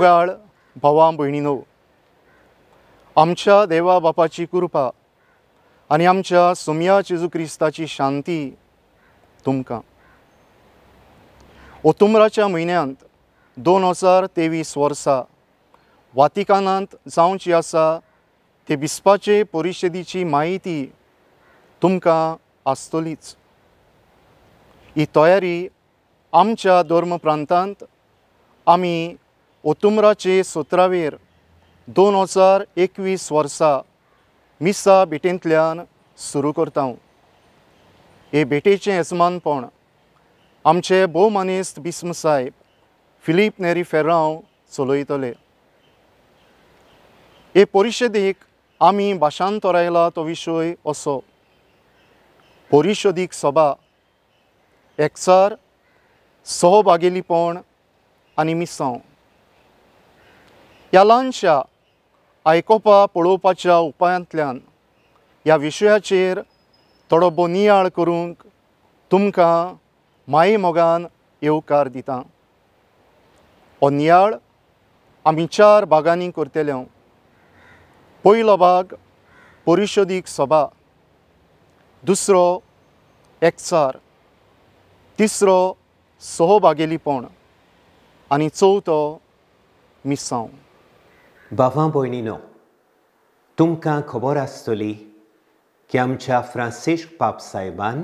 मोगाळ भावा भयणीनो, आमच्या देवा बापाची कृपा आनी आमच्या सोमया जेजू क्रिस्ताची शांती तुमकां. ओतुम्राच्या म्हयन्यांत 2023 वर्सा वातिकानांत जावची आसा ते बिस्पाचे परिशदेची म्हायती तुमकां आसतलीच. ही तयारी आमच्या धर्म प्रांतांत आमी ओतुम्राचे 17वेर 2021 वर्सा मिसा भेटेंतल्यान सुरू करता. हे भेटेचें येजमानपण आमचे भोवमानेस्त बिस्म साहेब फिलीप नेरी फेर्रांव चलयतले. हे परिशदेक आमी भाशांतरायला तो विशय असो: परिशदीक सभा, एकचार, सहभागेलीपण आनी मिसांव. ह्या ल्हानशा आयकोपा पळोवपाच्या उपायांतल्यान ह्या विशयाचेर थोडो भोव नियाळ करूंक तुमकां माये मोगान येवकार दिता. हो नियाळ आमी 4 भागांनी करतले. पयलो भाग परिशदीक सभा, दुसरो एकचार, तिसरो सहभागेलीपण आनी चवथो मिसांव. भावा भयणीनो, तुमकां खबर आसतली की आमच्या फ्रांसिस्क पाप साहेबान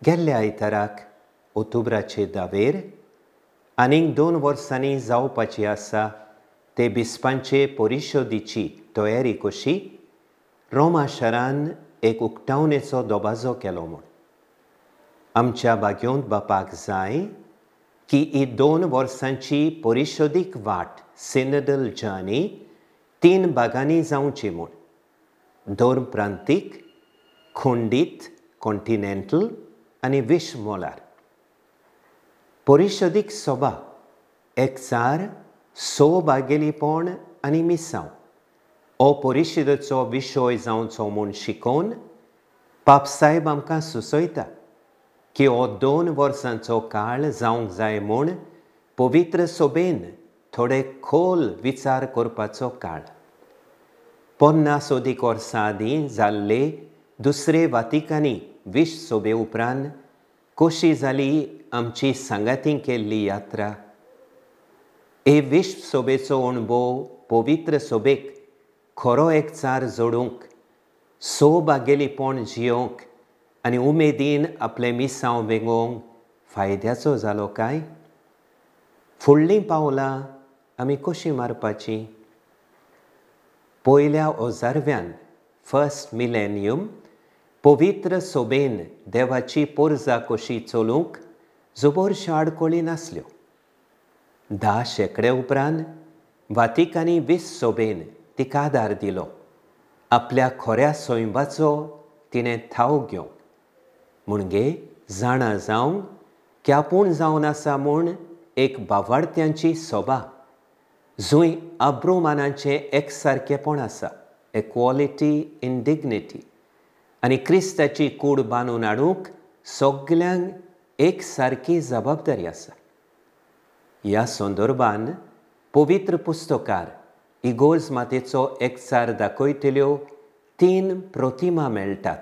गेल्ल्या आयताराक ओतुब्राचे 10वेर आनीक 2 वर्सांनी जावपाची आसा ते बिस्पांचे परिशदेची तयारी कशी रोमा शारान एक उक्तावणेचो दबाजो केलो म्हूण. आमच्या भाग्योंत बापाक जाय की ही 2 वर्सांची परिशदीक वाट सिनडल जर्नी 3 भागांनी जावची म्हूण: धर्म प्रांतीक, खंडीत कॉन्टिनेंटल आनी विश्व मोलार. परिशदीक सभा, एकचार, सहभागेलीपण आनी मिसांव हो परिशदेचो विशय जावचो म्हूण शिकोवन पापसाहेब आमकां सुचयता की हो 2 वर्सांचो काळ जावंक जाय म्हूण पवित्र सभेन थोडे खोल विचार करपाचो काळ. 50 अदीक वर्सां आदीं जाल्ले दुसरे वातिकानी विश्व सभे उपरांत कशी जाली आमची सांगाती केल्ली यात्रा. हे विश्व सभेचो अणभव पवित्र सभेक खरो एकचार जोडूंक, सहभागेलीपण जियोवंक आनी उमेदीन आपलें मिसांव वेंगोवंक फायद्याचो जालो काय? फुडलीं पावलां आमी कशीं मारपाचीं? पयल्या हजारव्यान, फर्स्ट मिलेनियम, पवित्र सभेन देवाची पोरजा कशी चलूंक जबरश्यो आडखळी नासल्यो. 10 शेंकडे उपरांत वातिकानी विश्व सभेन तिका आदार दिलो आपल्या खऱ्या सैमाचो तिणें थाव घेवंक. म्हणजे जाणा जावंक की आपूण जावन आसा म्हूण एक बावाडत्यांची सभा जंय आब्रुमानाचें एकसारकेपण आसा, इक्वॉलिटी इन डिग्निटी, आनी क्रिस्ताची कूड बांदून हाडूंक सगल्यांक एक सारकी जबाबदारी आसा. ह्या संदर्भान पवित्र पुस्तकार इगोर्ज मातेचो एकचार दाखयतल्यो 3 प्रतिमा मेळटात.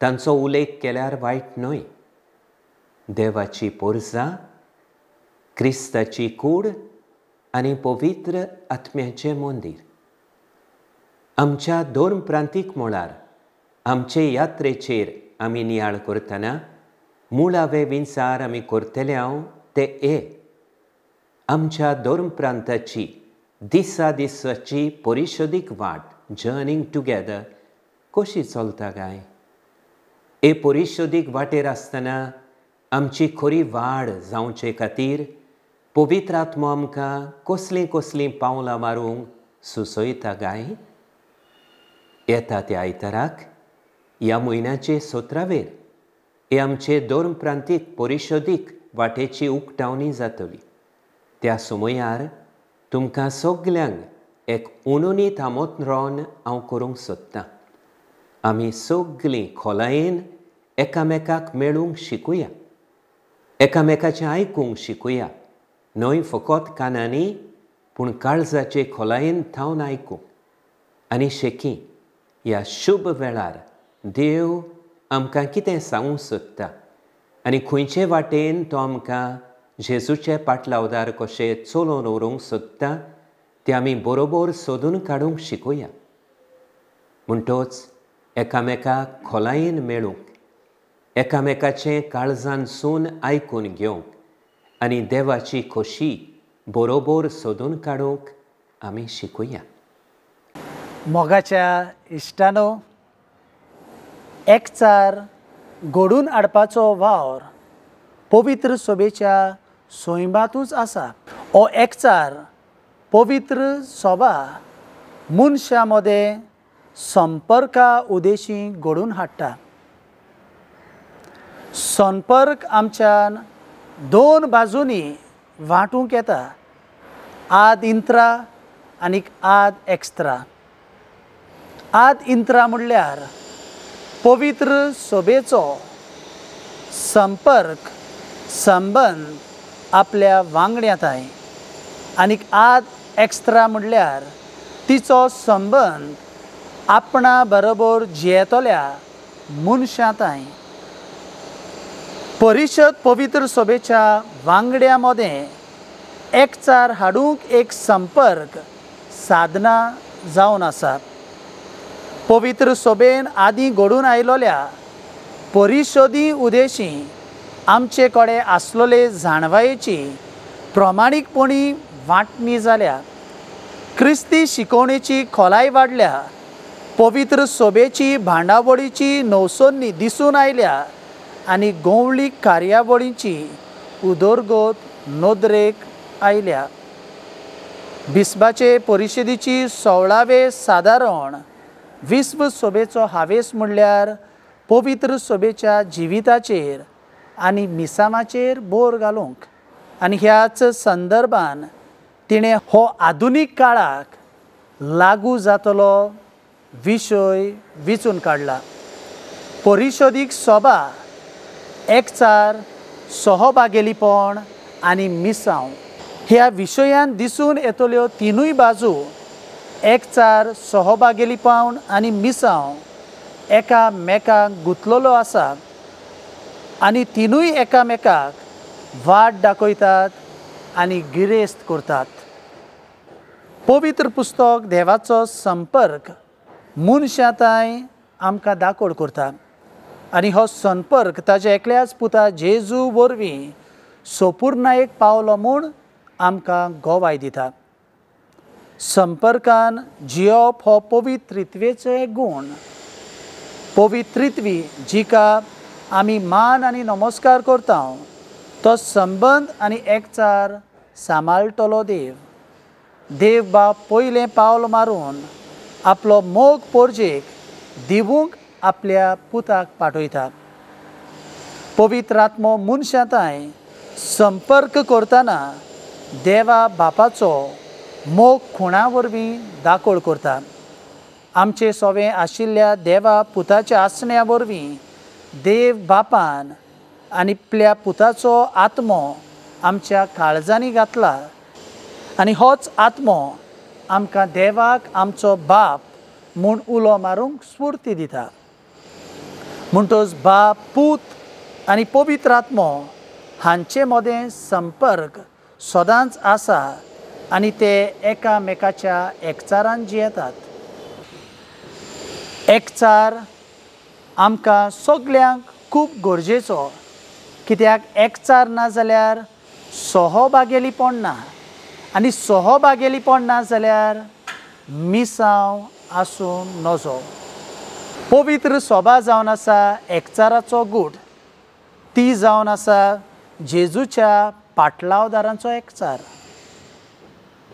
तांचो उल्लेख केल्यार वायट न्हय. देवाची पोरजा, क्रिस्ताची कूड आनी पवित्र आत्म्याचें मंदीर. आमच्या धर्म प्रांतीक मळार आमचे यात्रेचेर आमी नियाळ करतना मुळावे विचार आमी करतले हांव ते ए आमच्या धर्म प्रांताची दिसा दिसाची परिशदीक वाट जर्नींग टुगेदर कशी चलता काय? हे परिशदीक वाटेर आसतना आमची खरी वाड जावचे खातीर पवित्र आत्मो आमकां कसलीं कसलीं पावलां मारूंक सुचयता काय? येता त्या आयताराक ह्या म्हयन्याचे 17वेर हे आमचे धर्म प्रांतीक परिशदीक वाटेची उक्तावणी जातली. त्या समयार तुमकां सगल्यांक एक उणुनीत आमंत्रण हांव करूंक सोदतां. आमी सगलीं खोलायेन एकामेकाक मेळूंक शिकुया, एकामेकाचें आयकूंक शिकुया, न्हय फकत कानांनी पूण काळजाचे खोलायेन थावन आयकूंक आनी शेकी ह्या शुभ वेळार देव आमकां कितें सांगूंक सोदता आनी खंयचे वाटेन तो आमकां जेजूचे पाटलावदार कशें चलोवन व्हरूंक सोदता तें आमी बरोबर सोदून काडूंक शिकोया. म्हणटोच एकामेकाक खोलायेन मेळूंक, एकामेकाचें काळजानसून आयकून घेवंक आनी देवाची खोशी बरोबर सोदून काडूंक आमी शिकूया. मोगाच्या इश्टानो, एकचार घडून हाडपाचो वावर पवित्र सभेच्या सैमांतूच आसा. हो एकचार पवित्र सभा मनशां मदें संपर्का उद्देशी घडून हाडटा. संपर्क आमच्यान दोन बाजूंनी वांटूंक येता, आद इंत्रा आनी आद एक्स्त्रा. आद इंत्रा म्हणल्यार पवित्र सभेचो संपर्क संबंद आपल्या वांगड्यांताय, आनी आद एक्स्त्रा म्हणल्यार तिचो संबंद आपणा बरोबर जियेतल्या मनशांताय. परिशद पवित्र सभेच्या वांगड्यां मदें एकचार हाडूंक एक संपर्क साधना जावन आसा. पवित्र सभेन आदीं घडून आयलोल्या परिशदी उद्देशी आमचे कडेन आसलेले जाणवायेची प्रमाणीकपणी वांटणी जाल्या. क्रिस्ती शिकवणेची खोलाय वाडल्या, पवित्र सभेची भांडावळीची नवसोन्नी दिसून आयल्या आनी गोंवळी कार्यावळीची उदरगत नदरेक आयल्या. बिस्पाचे परिशदेची 16वे सादारण विश्व सभेचो हावेस म्हणल्यार पवित्र सभेच्या जिविताचेर आनी मिसामाचेर बोर घालूंक, आनी ह्याच संदर्भान तिणें हो आधुनीक काळाक लागू जातलो विशय विचून काडला. परिशदीक सभा एकचार, सहभागेलीपण आनी मिसांव ह्या विशयान दिसून येतल्यो तिनूय बाजू, एकचार, सहभागेलीपण आनी मिसांव एकामेकाक गुंतलेलो आसा आनी तिनूय एकामेकाक वाट दाखयतात आनी गिरेस्त करतात. पवित्र पुस्तक देवाचो संपर्क मनशांताय आमकां दाखोड करता आनी हो संपर्क ताज्या एकल्याच पुता जेजू वरवीं सोपूर्णायेक पावलो म्हूण आमकां गोवाय दिता. संपर्कान जियोप हो पवित्रित्वेचो एक गूण. पवित्रित्वी जिका आमी मान आनी नमस्कार करता तो संबंद आनी एकचार सांबाळटलो देव. देव बाप पयलें पावल मारून आपलो मोग पोरजेक दिवूंक आपल्या पुताक पाठयता. पवित्र आत्मो मनशांताय संपर्क करतना देवा बापाचो मोग खुणा वरवीं दाखोळ करता. आमचे सोवे आशिल्ल्या देवा पुताच्या आसण्या वरवीं देव बापान आनी आपल्या पुताचो आत्मो आमच्या काळजांनी घातला आनी होच आत्मो आमकां देवाक आमचो बाप म्हूण उलो मारूंक स्फूर्ती दिता. म्हणटच बाप, पूत आनी पवित्र आत्मो हांचे मदें संपर्क सदांच आसा आनी ते एकामेकाच्या एकचारान जियेतात. एकचार आमकां सगल्यांक खूब गरजेचो, कित्याक एकचार ना जाल्यार सहभागेलीपण ना आनी सहभागेलीपण ना जाल्यार मिसांव आसूं नजो. पवित्र सभा जावन आसा एकचाराचो गूट, ती जावन आसा जेजूच्या पाटलावदारांचो एकचार.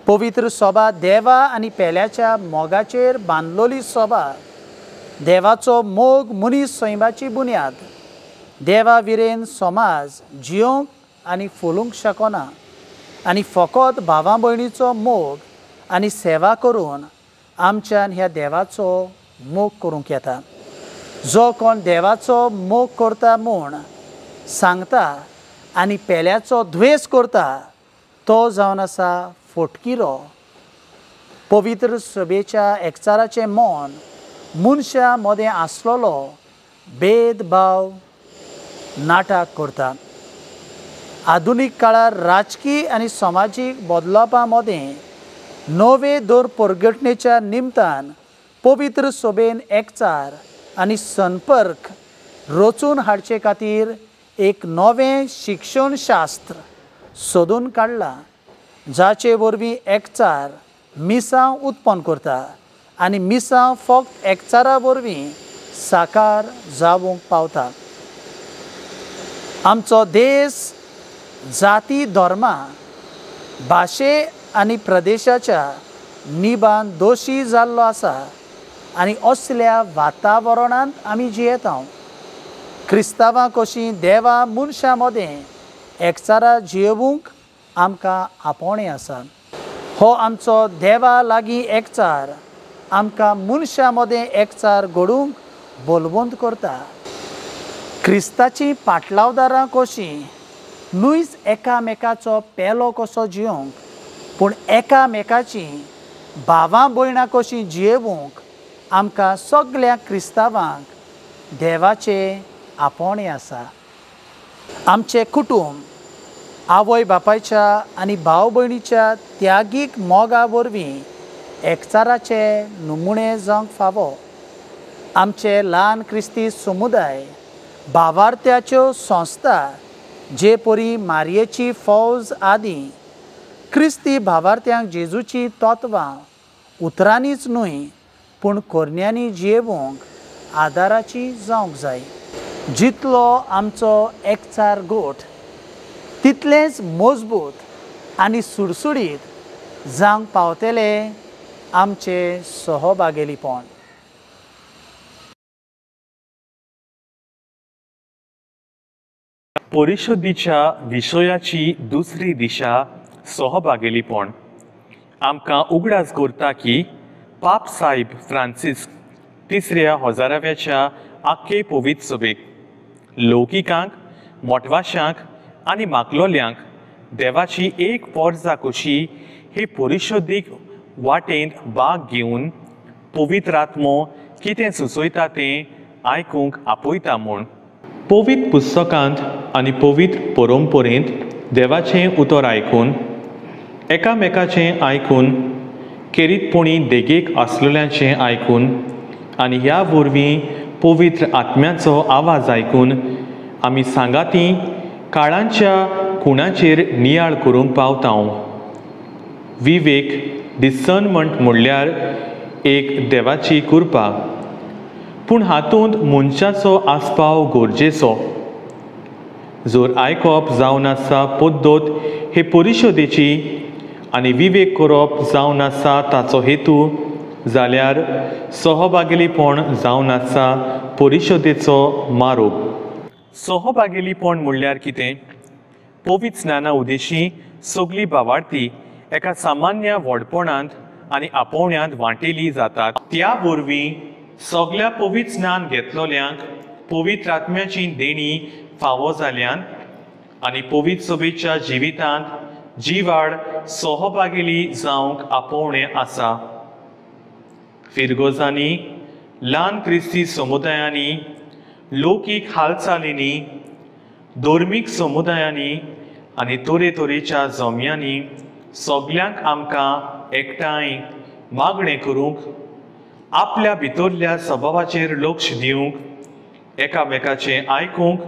पवित्र सभा देवा आनी पेल्याच्या मोगाचेर बांदलोली सभा. देवाचो मोग मनीस सैमाची बुन्याद. देवा विरेन समाज जियोंक आनी फुलूंक शकना आनी फकत भावा भयणीचो मोग आनी सेवा करून आमच्यान ह्या देवाचो मोग करूंक येता. जो कोण देवाचो मोग करता म्हूण सांगता आनी पेल्याचो द्वेस करता तो जावन आसा फटकिरो. पवित्र सभेच्या एकचाराचें मन मनशां मदें आसलेलो भेदभाव नाटक करता. आधुनीक काळार राजकीय आनी समाजीक बदलापा मदें नवे दर परगटणेच्या निमतान पवित्र सभेन एकचार आनी संपर्क रचून हाडचे खातीर एक नवें शिक्षणशास्त्र सोदून काडलां, जाचे वरवीं एकचार मिसांव उत्पन्न करता आनी मिसांव फक्त एकचारा वरवीं साकार जावंक पावता. आमचो देश जाती, धर्मा, भाशे आनी प्रदेशाच्या निबान दोशी जाल्लो आसा आनी असल्या वातावरणांत आमी जियेता. क्रिस्तांवां कशीं देवा मनशां मदें एकचारा जियेवंक आमकां आपोवणें आसा. हो आमचो देवा लागीं एकचार आमकां मनशां मदें एकचार घडूंक बलवंत करता. क्रिस्ताचीं पाटलावदारां कशीं न्हूच एकामेकाचो पेलो कसो जियोंक, पूण एकामेकाची भावां भयणां कशीं जियेवंक आमकां सगळ्या क्रिस्तांवांक देवाचें आपोवणें आसा. आमचें कुटूंब आवय बापायच्या आनी भाव भयणीच्या त्यागीक मोगा वरवीं एकचाराचे नमुणे जावंक फावो. आमचे ल्हान क्रिस्ती समुदाय, भावार्थ्याच्यो संस्था जे परी मारयेची फौज आदी क्रिस्ती भावार्थ्यांक जेजूची तत्वां उतरांनीच न्हय पूण करण्यांनी जियेवंक आदाराची जावंक जाय. जितलो आमचो एकचार गोठ तितलेंच मजबूत आनी सुडसुडीत जावंक पावतले आमचें सहभागेलीपण. परिशुद्धीच्या विशयाची दुसरी दिशा सहभागेलीपण आमकां उगडास करता की पाप साहेब फ्रांसिस्क तिसऱ्या हजाराव्याच्या आख्खे पवित्र सभेक लौकिकांक, मोटवाशांक आनी माकलोल्यांक देवाची एक पोरजा कशी हे परिशुद्धीक वाटेंत भाग घेवन पवित्र आत्मो कितें सुचयता तें आयकूंक आपयता म्हूण. पवित्र पुस्तकांत आनी पवित्र परंपरेंत देवाचें उतर आयकून, एकामेकाचें आयकून, खेरीतपणी देगेक आसलेल्यांचें आयकून आनी ह्या वरवीं पवित्र आत्म्याचो आवाज आयकून आमी सांगाती काळांच्या खुणाचेर नियाळ करूंक पावता. विवेक डिसर्नमेंट म्हणल्यार एक देवाची कृपा, पूण हातूंत मनशाचो आस्पाव गरजेचो. जर आयकप जावन आसा पद्दत हे परिशदेची आनी विवेक करप जावन आसा ताचो हेतू, जाल्यार सहभागेलीपण जावन आसा परिशदेचो मारोप. सहभागेलीपण म्हणल्यार कितें? पवित्र स्नाना उद्देशी सगळी भावार्थी एका सामान्य व्हडपणांत आनी आपोवण्यांत वांटेली जातात. त्या वरवीं सगळ्या पवित्र स्नान घेतलोल्यांक पवित्र आत्म्याची देणी फावो जाल्यान आनी पवित्र सभेच्या जिवितांत जिवाड सहभागेली जावंक आपोवणें आसा. फिरगोजांनी, ल्हान क्रिस्ती समुदायांनी, लौकीक हालचालींनी, धर्मीक समुदायांनी आनी तरेतरेच्या जम्यांनी सगल्यांक आमकां एकठांय मागणें करूंक, आपल्या भितरल्या सभावाचेर लक्ष दिवंक, एकामेकाचें आयकूंक,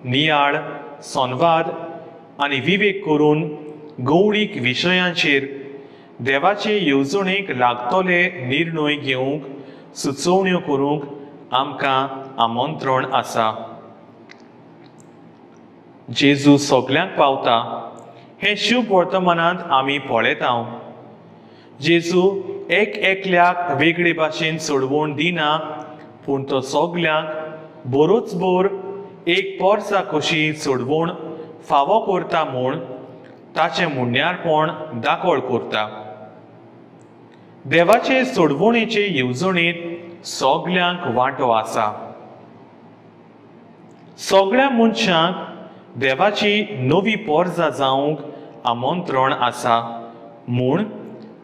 नियाळ, संवाद आनी विवेक करून गौळीक विशयांचेर देवाचे येवजणेक लागतले निर्णय घेवंक सुचोवण्यो करूंक आमकां आमंत्रण आसा. जेजू सगल्यांक पावता हें शुभ वर्तमानांत आमी पळयता. जेजू एक एकल्याक वेगळे भाशेन सोडवण दिना, पूण तो सगल्यांक बरोच बोर एक पोरसा कशी सोडवण फावो करता म्हूण ताचें म्हणण्यारपण दाखोळ करता. देवाचे सोडवणेचे येवजणेंत सगल्यांक वांटो आसा. सगळ्या मनशांक देवाची नवी पोरजा जावंक आमंत्रण आसा म्हूण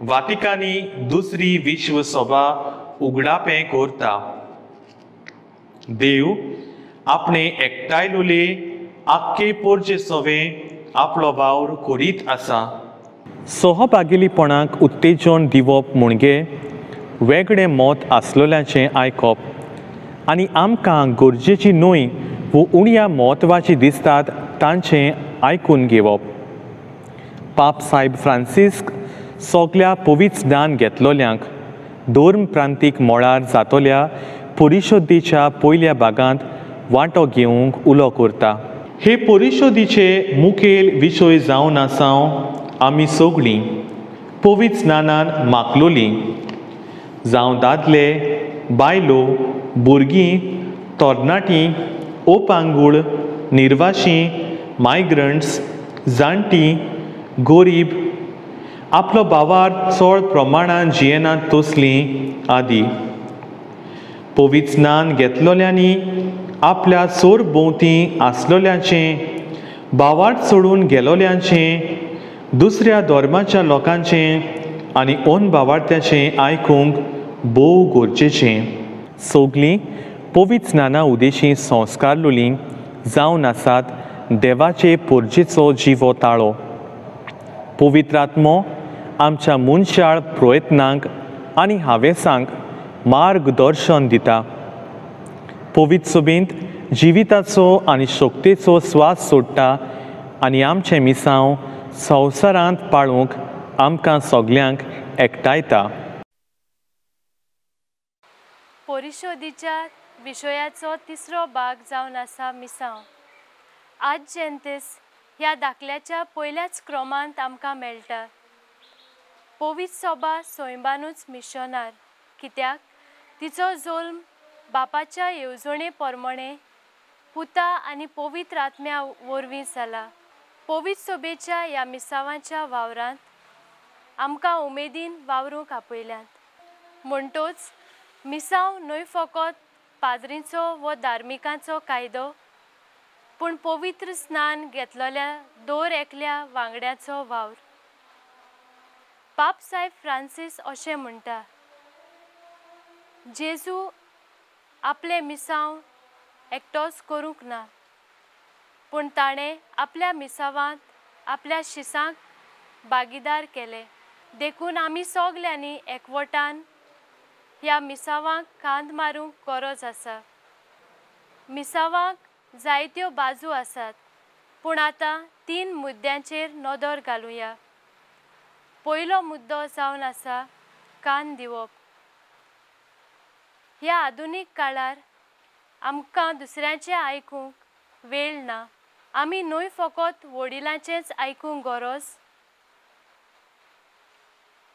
वातिकानी दुसरी विश्व सभा उगडापें करता. देव आपणे एकठांयलोले आख्खे पोरचे सवे आपलो वावर करीत आसा. सहभागीपणाक उत्तेजन दिवप म्हणजे वेगळें मत आसलेल्यांचें आयकप आनी आमकां गरजेची न्हय वो उण्या म्हत्वाची दिसतात तांचें आयकून घेवप. पाप साहेब फ्रांसिस्क सगल्या पवित्र दान घेतलोल्यांक धर्म प्रांतीक मळार जातल्या परिशदेच्या पयल्या भागांत वांटो घेवंक उलो करता. हे परिशदेचे मुखेल विशय जावन आसा आमी सगळीं पवित्र स्नानान मागलोलीं, जावं दादले, बायलो, भुरगीं, तरणाटीं, ओपांगूळ, निर्वाशी, मायग्रंट्स, जाणटीं, गोरीब, आपलो भावार चड प्रमाणान जियेनात तसलीं आदी. पवित्र स्नान घेतलोल्यांनी आपल्या सोर भोंवती आसलोल्यांचें, भावार्थ सोडून गेलोल्यांचें, दुसऱ्या धर्माच्या लोकांचें आनी ओन भावार्थ्याचें आयकूंक भोव गरजेचें. सगलीं पवित्र स्नाना उदेशी संस्कारलोलीं जावन आसात देवाचे पोरजेचो जिवो ताळो. पवित्र आत्मो आमच्या मनशाळ प्रयत्नांक आनी हावेसांक मार्गदर्शन दिता. पवित्र सभेंत जिविताचो आनी शक्तेचो स्वास सोडटा आनी आमचें मिसांव संवसारांत पाळूंक आमकां सगल्यांक एकठांयता. परिशोदीच्या विशयाचो तिसरो भाग जावन आसा मिसांव. आज जेंतेस ह्या दाखल्याच्या पयल्याच क्रमांत आमकां मेळटा. पवित्र सभा सैंबानूच मिशनार, कित्याक तिचो जल्म बापाच्या येवजणे प्रमाणे पुता आनी पवित्र आत्म्या वरवीं जाला. पवित्र सभेच्या ह्या मिसावांच्या वावरांत आमकां उमेदीन वावरूंक आपयल्यात. म्हणटोच मिसांव न्हय फकत पाद्रींचो वो धार्मिकांचो कायदो, पूण पवित्र स्नान घेतलेल्या दर एकल्या वांगड्याचो वावर. पाप साहेब फ्रांसीस अशें म्हणटा, जेजू आपलें मिसांव एकटोच करूंक ना, पूण ताणें आपल्या मिसावांत आपल्या शिसांक भागीदार केले. देखून आमी सगल्यांनी एकवटान ह्या मिसावांक कांद मारूंक गरज आसा. मिसावांक जायत्यो बाजू आसात, पूण आतां 3 मुद्द्यांचेर नदर घालुया. पयलो मुद्दो जावन आसा कान दिवप. ह्या आधुनीक काळार आमकां दुसऱ्यांचें आयकूंक वेळ ना. आमी न्हय फकत वडिलांचेंच आयकूंक गरज,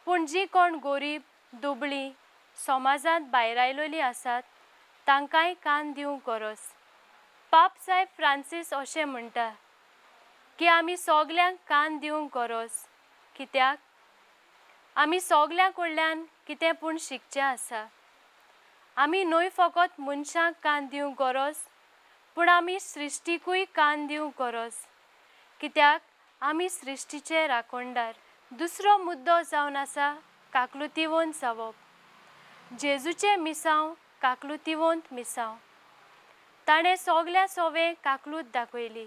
पूण जीं कोण गोरीब, दुबळीं, समाजांत भायर आयलोलीं आसात तांकांय कान दिवंक गरज. पाप साहेब फ्रांसीस अशें म्हणटा की आमी सगल्यांक कान दिवंक गरज, कित्याक आमी सगल्यां कडल्यान कितें पूण शिकचें आसा. आमी न्हय फकत मनशांक कान दिवंक गरज, पूण आमी सृश्टीकूय कान दिवंक गरज, कित्याक आमी सृश्टीचे राखणदार. दुसरो मुद्दो जावन आसा काकलुतीवंत जावप. जेजूचें मिसांव काकलुतीवंत मिसांव. ताणें सगल्या सोवे काकलूत दाखयली.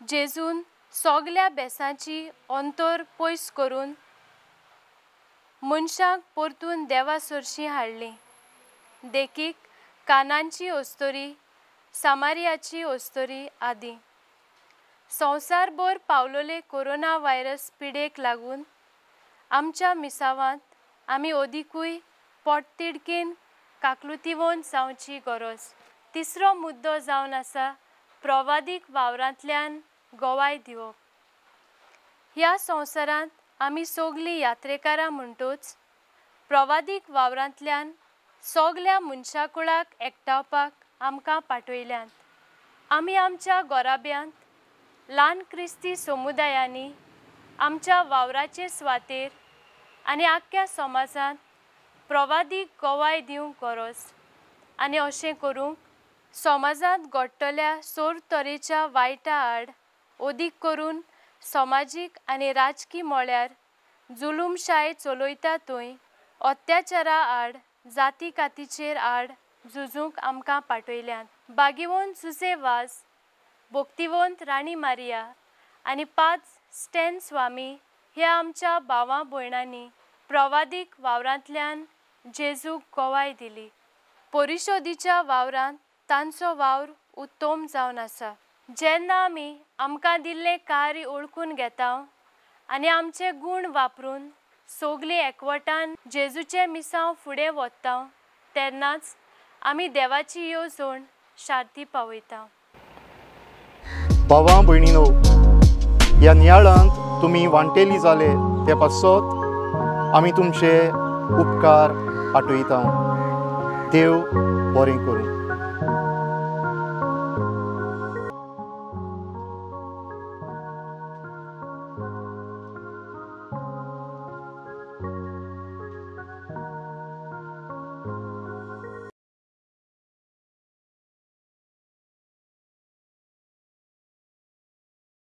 जेजून सगल्या बेसांची अंतर पयस करून मनशांक परतून देवा सरशीं हाडलीं. देखीक कानांची अस्तोरी, सामारियाची अस्तोरी आदी. संवसारभर पावलोले कोरोना व्हायरस पिडेक लागून आमच्या मिसावांत आमी अदिकूय पोटतिडकीन काकलुतीवंत जावची गरज. तिसरो मुद्दो जावन आसा प्रवादीक वावरांतल्यान गवाय दिवप. ह्या संवसारांत आमी सगलीं यात्रेकारां म्हणटूच प्रवादीक वावरांतल्यान सगल्या मनशाकुळाक एकठावपाक आमकां पाठयल्यात. आमी आमच्या गोराब्यांत ल्हान क्रिस्ती समुदायांनी आमच्या वावराचे सुवातेर आनी आख्ख्या समाजांत प्रवादीक गवाय दिवंक गरज आनी अशें करूंक समाजांत घडटल्या सोर तरेच्या वायटा आड अदीक करून समाजीक आनी राजकी मळ्यार जुलूमशाय चलयता थंय अत्याचारा आड, जाती कातीचेर आड झुजूंक आमकां पाठयल्यात। बागिवंत जुजे वाज, भक्तिवंत राणी मारिया आनी 5 स्टॅन स्वामी ह्या आमच्या भावां भयणांनी प्रवादीक वावरांतल्यान जेजूक गवाय दिली। परिशोदीच्या वावरांत तांचो वावर उत्तम जावन आसा। जेन्ना आमी आमकां दिल्लें कार्य ओळखून घेता आनी आमचे गूण वापरून सगळीं एकवटान जेजूचें मिसांव फुडें वता तेन्नाच आमी देवाची येवजण शार्ती पावयता। भावां भयणीनो, ह्या नियाळांत तुमी वांटेली जाले ते पासत आमी तुमचे उपकार आठयता। देव बरें करूं।